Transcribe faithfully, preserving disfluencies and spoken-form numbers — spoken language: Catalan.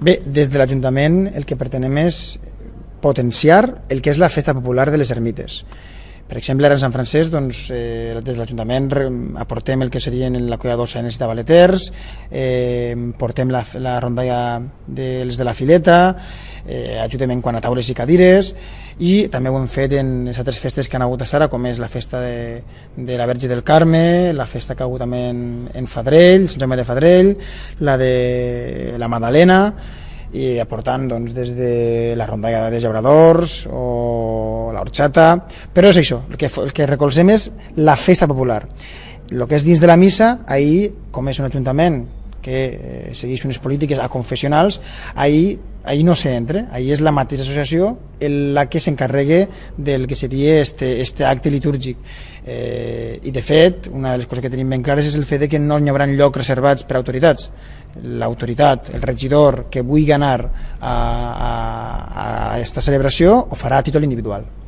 Bé, des de l'Ajuntament el que pretenem és potenciar el que és la festa popular de les ermites. Per exemple, ara en Sant Francesc, doncs, eh, des de l'Ajuntament aportem el que serien la colla dolça de Valeters, eh, portem la, la rondalla de les de la Fileta, eh, ajudem en quant a taules i cadires, i també ho hem fet en les altres festes que han hagut a Sara, com és la festa de, de la Verge del Carme, la festa que ha hagut també en, en Fadrell, Sant Jaume de Fadrell, la de la Madalena, i aportant doncs, des de la rondalla de llauradors o l'horxata, però és això, el que, el que recolzem és la festa popular. El que és dins de la missa, ahir, com és un ajuntament que eh, segueix unes polítiques aconfessionals, ahir, ahir no s'entra, ahir és la mateixa associació la que s'encarregue del que seria este, este acte litúrgic. Eh, I de fet, una de les coses que tenim ben clares és el fet de que no hi haurà llocs reservats per a autoritats. L'autoritat, el regidor que vulgui anar a, a, a aquesta celebració ho farà a títol individual.